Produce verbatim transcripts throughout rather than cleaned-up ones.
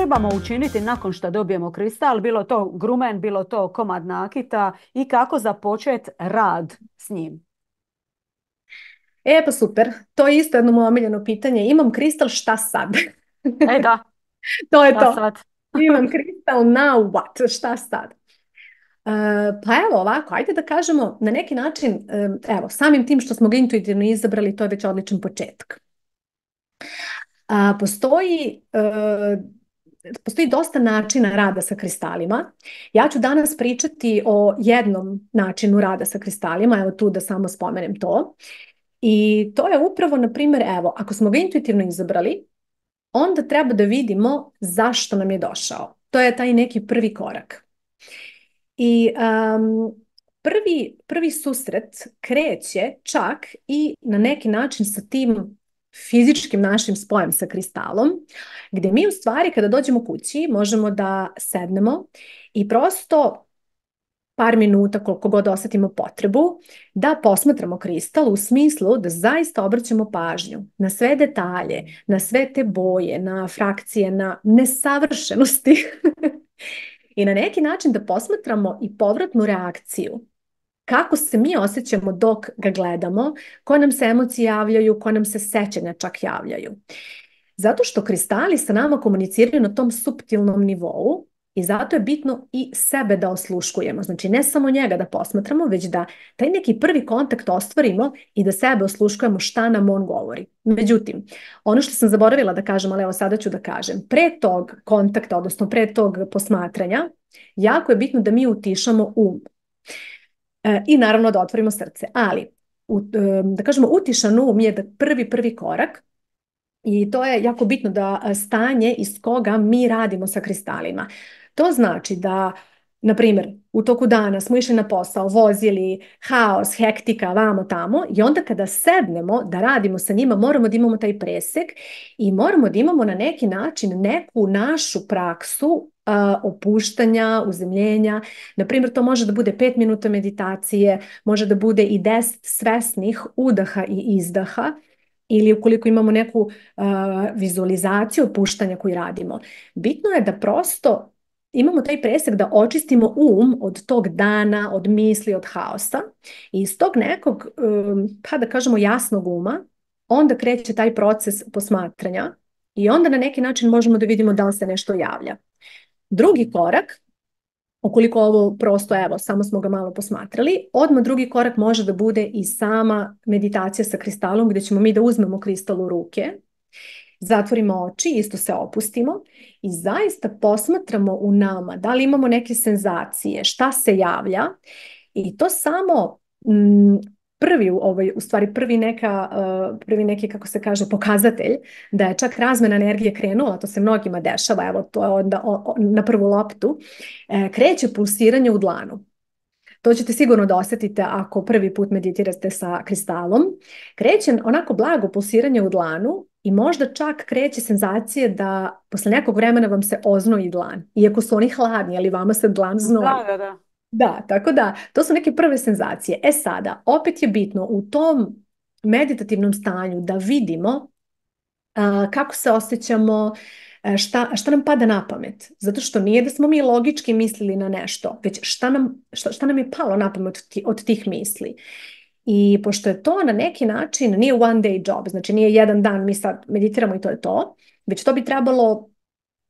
trebamo učiniti nakon što dobijemo kristal, bilo to grumen, bilo to komad nakita i kako započeti rad s njim? E pa super, to je isto jedno moje omiljeno pitanje. Imam kristal, šta sad? E da, To je šta to. sad? Imam kristal, now what? Šta sad? Uh, pa evo ovako, ajde da kažemo na neki način, um, evo, samim tim što smo ga intuitivno izabrali, to je već odličan početak. A, postoji, uh, postoji dosta načina rada sa kristalima. Ja ću danas pričati o jednom načinu rada sa kristalima, evo tu da samo spomenem to. I to je upravo, na primjer, evo, ako smo ga intuitivno izabrali, onda treba da vidimo zašto nam je došao. To je taj neki prvi korak. I um, prvi, prvi susret kreće čak i na neki način sa tim fizičkim našim spojem sa kristalom, gdje mi u stvari kada dođemo kući možemo da sednemo i prosto par minuta, koliko god osetimo potrebu, da posmatramo kristal u smislu da zaista obraćamo pažnju na sve detalje, na sve te boje, na frakcije, na nesavršenosti i na neki način da posmatramo i povratnu reakciju. Kako se mi osjećamo dok ga gledamo, koje nam se emocije javljaju, koje nam se sećanja čak javljaju. Zato što kristali sa nama komuniciraju na tom suptilnom nivou i zato je bitno i sebe da osluškujemo. Znači ne samo njega da posmatramo, već da taj neki prvi kontakt ostvarimo i da sebe osluškujemo šta nam on govori. Međutim, ono što sam zaboravila da kažem, ali evo sada ću da kažem, pre tog kontakta, odnosno pre tog posmatranja, jako je bitno da mi utišamo um. E, I naravno da otvorimo srce. Ali, u, da kažemo, utišan um je da prvi, prvi korak. I to je jako bitno da stanje iz koga mi radimo sa kristalima. To znači da, na primjer, u toku dana smo išli na posao, vozili, haos, hektika, vamo tamo i onda kada sednemo da radimo sa njima, moramo da imamo taj presek i moramo da imamo na neki način neku našu praksu uh, opuštanja, uzemljenja. Na primjer, to može da bude pet minuta meditacije, može da bude i deset svesnih udaha i izdaha, ili ukoliko imamo neku uh, vizualizaciju opuštanja koju radimo. Bitno je da prosto imamo taj presek da očistimo um od tog dana, od misli, od haosa i iz tog nekog, um, pa da kažemo jasnog uma, onda kreće taj proces posmatranja i onda na neki način možemo da vidimo da li se nešto javlja. Drugi korak, ukoliko ovo prosto, evo, samo smo ga malo posmatrali, odmah drugi korak može da bude i sama meditacija sa kristalom, gdje ćemo mi da uzmemo kristal u ruke, zatvorimo oči, isto se opustimo i zaista posmatramo u nama da li imamo neke senzacije, šta se javlja i to samo m, prvi, ovaj, u stvari prvi, neka, uh, prvi neki, kako se kaže, pokazatelj da je čak razmena energije krenula, to se mnogima dešava, evo to je onda o, o, na prvu loptu, e, kreće pulsiranje u dlanu. To ćete sigurno da osjetite ako prvi put meditirate sa kristalom. Kreće onako blago pulsiranje u dlanu i možda čak kreće senzacije da posle nekog vremena vam se oznoji dlan. Iako su oni hladni, ali vama se dlan znoji. Da, da, da. Da, tako da, to su neke prve senzacije. E sada, opet je bitno u tom meditativnom stanju da vidimo uh, kako se osjećamo, Šta, šta nam pada na pamet. Zato što nije da smo mi logički mislili na nešto, već šta nam, šta, šta nam je palo na pamet od, ti, od tih misli. I pošto je to na neki način, nije one day job, znači nije jedan dan mi sad meditiramo i to je to, već to bi trebalo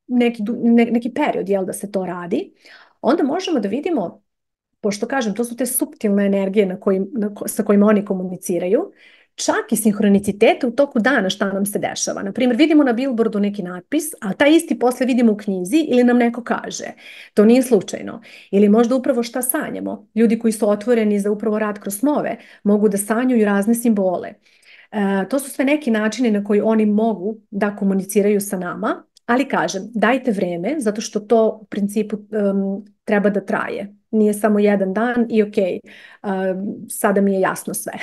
neki, ne, neki period, jel, da se to radi, onda možemo da vidimo, pošto kažem, to su te suptilne energije na kojim, na, sa kojima oni komuniciraju, čak i sinhronicitete u toku dana šta nam se dešava. Naprimjer, vidimo na billboardu neki natpis, a taj isti posle vidimo u knjizi ili nam neko kaže. To nije slučajno. Ili možda upravo šta sanjamo. Ljudi koji su otvoreni za upravo rad kroz snove mogu da sanjuju razne simbole. E, to su sve neki načini na koji oni mogu da komuniciraju sa nama, ali kažem, dajte vreme, zato što to u principu um, treba da traje. Nije samo jedan dan i ok, um, sada mi je jasno sve.